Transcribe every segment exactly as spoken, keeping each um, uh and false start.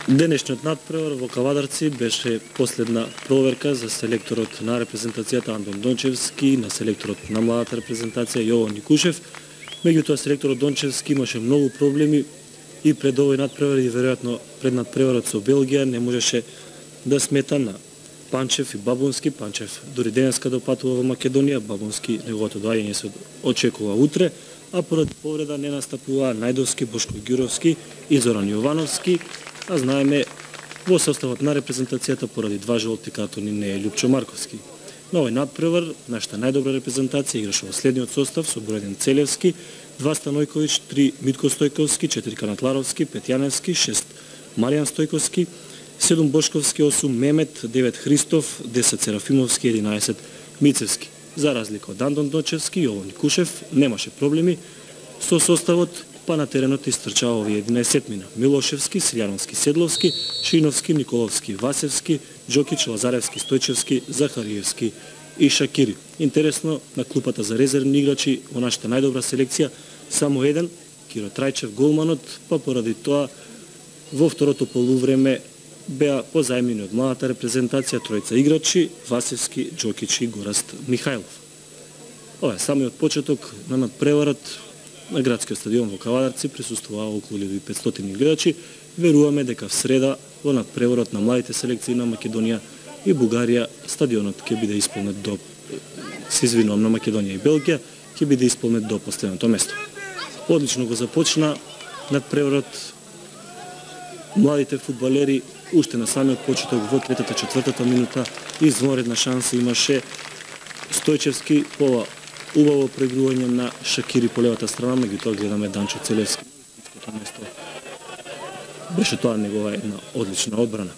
Денешниот надпревар во Кавадарци беше последна проверка за селекторот на репрезентацијата Антон Дончевски, на селекторот на младата репрезентација Јован Никушев. Меѓутоа селекторот Дончевски имаше многу проблеми и пред овој надпревар и веројатно пред надпреварот со Белгија не можеше да смета на Панчев и Бабунски. Панчев дури денеска допатува во Македонија, Бабунски неговото доаѓање се очекува утре, а поради повреда не настапува Најдовски, Бошко Ѓуровски и Зоран Јовановски, а знаеме во составот на репрезентацијата поради два жолти картони не е Љупчо Марковски. На овој надпревар нашата најдобра репрезентација играше во следниот состав со број еден Целевски, два Станојковиќ, три Митко Стојковски, четири Канатларовски, пет Јаневски, шест Маријан Стојковски, седум Бошковски, осум Мемет, девет Христов, десет Серафимовски, единаесет Мицевски. За разлика од Антон Дончевски, Јован Никушев немаше проблеми со составот, па на теренот истрчаа овие единаесетмина: Милошевски, Силјановски, Седловски, Шиновски, Николовски, Васевски, Џокиќ, Лазаревски, Стојчевски, Захариевски и Шакири. Интересно, на клупата за резервни играчи во нашата најдобра селекција само еден, Киро Трајчев, голманот, па поради тоа во второто полувреме беа позајмени од младата репрезентација тројца играчи: Васевски, Џокиќ и Гораст Михајлов. Ова е самиот почеток на надпреварот на градскиот стадион во Кавадарци. Присуствуваа околу илјада и петстотини гледачи. Веруваме дека в среда во надпреварот на младите селекции на Македонија и Бугарија стадионот ќе биде исполнет до, се извинувам, на Македонија и Белгија, ќе биде исполнет до последното место. Одлично го започна надпреварот. Младите фудбалери уште на самиот почеток во третата четвртата минута извонредна шанса имаше Стојчевски по убаво проигрување на Шакири по левата страна, меѓутоа гледаме Данчо Целевски. Беше тоа негова една одлична одбрана.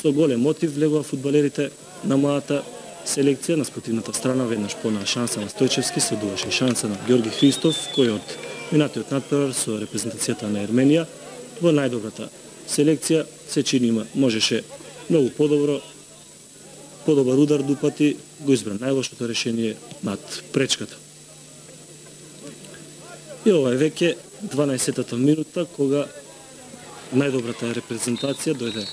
Со голем мотив влегува фудбалерите на младата селекција. На спротивната страна веднаш понаа шанса на Стојчевски, следуваше шанса на Ѓорги Христов, кој од минатиот надпревар со репрезентацијата на Ерменија во најдобрата селекција се чини има можеше многу подобро, подобар удар дупати, го избра најлошото решение над пречката. И ова е веќе дванаесеттата минута, кога најдобрата репрезентација дојде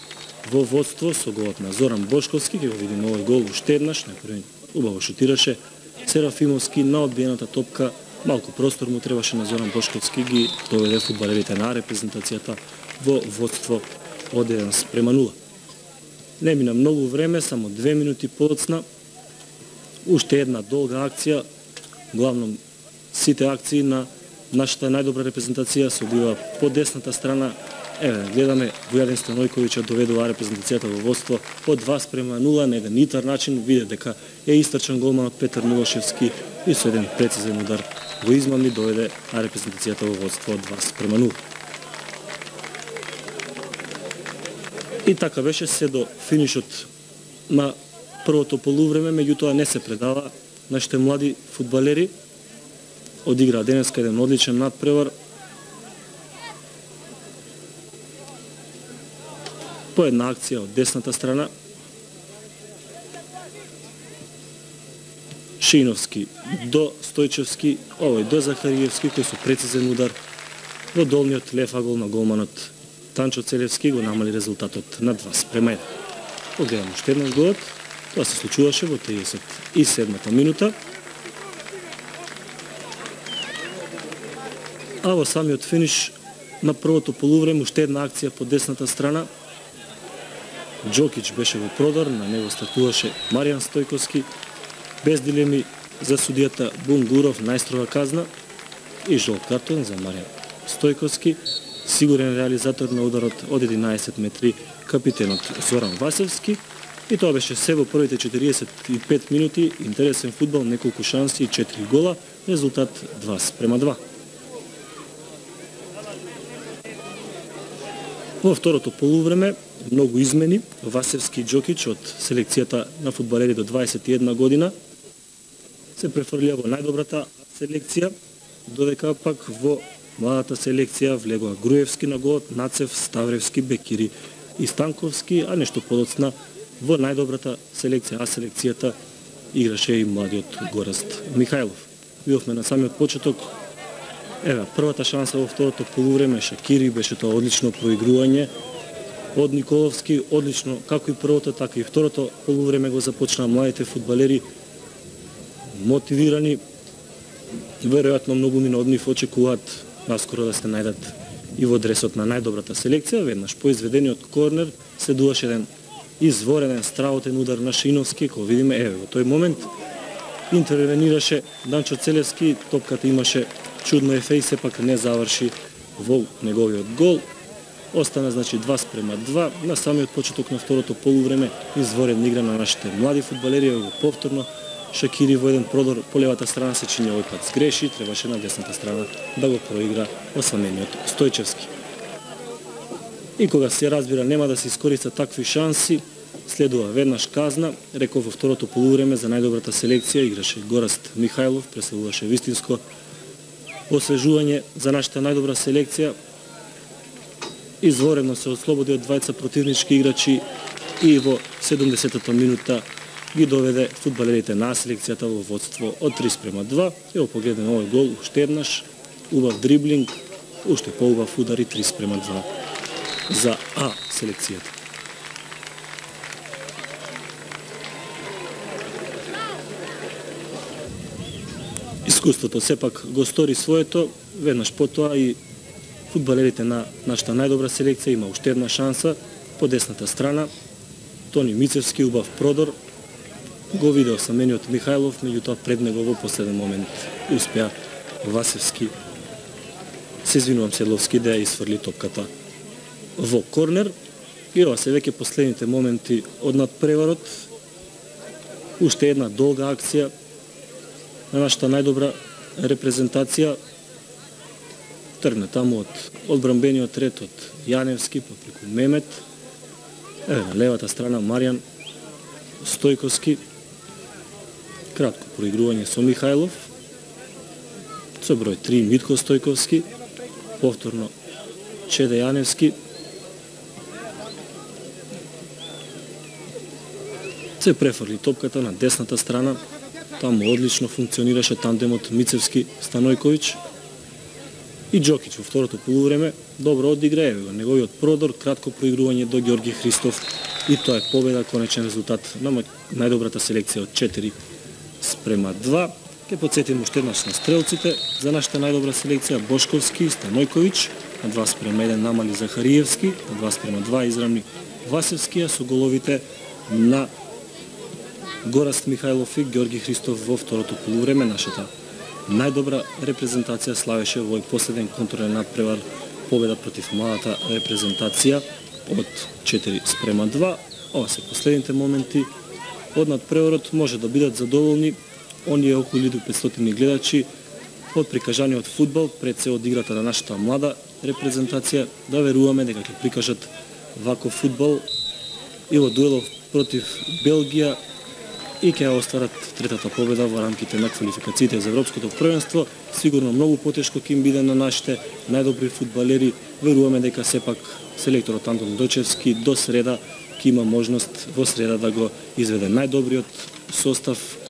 во водство со голот на Зоран Бошковски. Ќе го видиме овој гол уште еднаш, најпрви убаво шутираше Серафимовски на одбиената топка. Малку простор му требаше на Зоран Бошковски, ги доведе фудбалерите на репрезентацијата во водство од еден спрема нула. Не мина многу време, само две минути подоцна. Уште една долга акција, главном сите акции на нашата најдобра репрезентација се одвива по десната страна. Еве, гледаме Војадин Станојковиќ доведува репрезентацијата во водство од два спрема нула на еден итар начин. Виде дека е истрчан голманот Петар Милошевски и со еден прецизен удар во измамни доведе репрезентацијата во водство од два спрема нула. И така беше се до финишот на првото полувреме, меѓутоа не се предава. Нашите млади фудбалери одиграа денеска еден одличен надпревар. По една акција од десната страна. Шиновски до Стојчевски, овој до Захариевски, кој со прецизен удар во долниот лев агол на голманот Танчо Целевски го намали резултатот на два спрема еден. Погледам уште еднаш голот. Тоа се случуваше во триесет и седмата минута. А во самиот финиш на првото полувреме уште една акција по десната страна. Џокиќ беше во продор, на него стартуваше Маријан Стојковски. Без дилеми за судијата Бунгуров најстрога казна и жолт картон за Маријан Стојковски. Сигурен реализатор на ударот од единаесет метри капитенот Зоран Васевски. И тоа беше се во првите четириесет и пет минути. Интересен фудбал, неколку шанси и четири гола. Резултат два спрема два. Во второто полувреме многу измени. Васевски и Џокиќ од селекцијата на фудбалери до дваесет и една година се префрлија во најдобрата селекција, додека пак во младата селекција влегува Груевски на голот, Нацев, Ставревски, Бекири и Станковски, а нешто подоцна во најдобрата селекција, а селекцијата играше и младиот Гораст Михајлов. Видовме на самиот почеток Еве, првата шанса во второто полувреме Шакири беше тоа одлично проигрување од Николовски, одлично, како и првото, така и второто полувреме го започнаа младите фудбалери, мотивирани. Веројатно многумина од нив очекуваат наскоро да се најдат и во дресот на најдобрата селекција. Веднаш по изведениот корнер следуваше еден изворен страотен удар на Шиновски, кој видиме, еве, во тој момент интервенираше Данчо Целевски, топката имаше чудно ефе и сепак не заврши во неговиот гол. Остана, значи, два спрема два. На самиот почеток на второто полувреме изворена игра на нашите млади фудбалери, во повторно Шакири во еден продор по левата страна се чини овој пат сгреши, требаше на десната страна да го проигра осамениот Стојчевски. И кога се разбира нема да се искористат такви шанси, следува веднаш казна. Реков во второто полувреме за најдобрата селекција играше Гораст Михајлов, преселуваше вистинско освежување за нашата најдобра селекција. Изворено се ослободи од двајца противнички играчи и во седумдесетата минута ги доведе фудбалерите на селекцијата во водство од три спрема два. Ево погледнем овој гол уште еднаш, убав дриблинг, уште поубав удар и три спрема два за А селекцијата. Искуството сепак го стори своето, веднаш потоа и фудбалерите на нашата најдобра селекција има уште една шанса по десната страна. Тони Мицевски убав продор, го виде осамениот Михајлов, меѓутоа пред него во последен момент успеа Васевски, се извинувам Седловски, да ја изфрли топката во корнер. И ова се веќе последните моменти од надпреварот. Уште една долга акција на нашата најдобра репрезентација. Тргна таму од одбранбениот ред од Јаневски, попреку Мемет. Еве на левата страна Маријан Стојковски. Кратко проигрување со Михајлов. Со број три Митко Стојковски. Повторно Чеде Јаневски. Се префрли топката на десната страна. Таму одлично функционираше тандемот Мицевски-Станојковиќ. И Џокич во второто полувреме добро одигра, еве го неговиот продор, кратко проигрување до Ѓорги Христов и тоа е победа, конечен резултат на најдобрата селекција од четири спрема два. Ке потсетим уште еднаш на стрелците за нашата најдобра селекција: Бошковски, Станојковиќ, на два спрема еден намали Захариевски, на два спрема два израмни Васевски, со головите на Гораст Михајлов и Ѓорги Христов во второто полувреме. Нашата најдобра репрезентација славеше во овој последен контролен надпревар победа против малата репрезентација од четири спрема два. Ова се последните моменти од надпреварот. Може да бидат задоволни оние околу илјада и петстотини гледачи од прикажаниот фудбал пред се од играта на нашата млада репрезентација. Да веруваме дека ќе прикажат ваков фудбал и во дуелов против Белгија и ќе остварат третата победа во рамките на квалификациите за Европското првенство. Сигурно многу потешко ќе им биде на нашите најдобри фудбалери. Веруваме дека сепак селекторот Антон Дочевски до среда ќе има можност во среда да го изведе најдобриот состав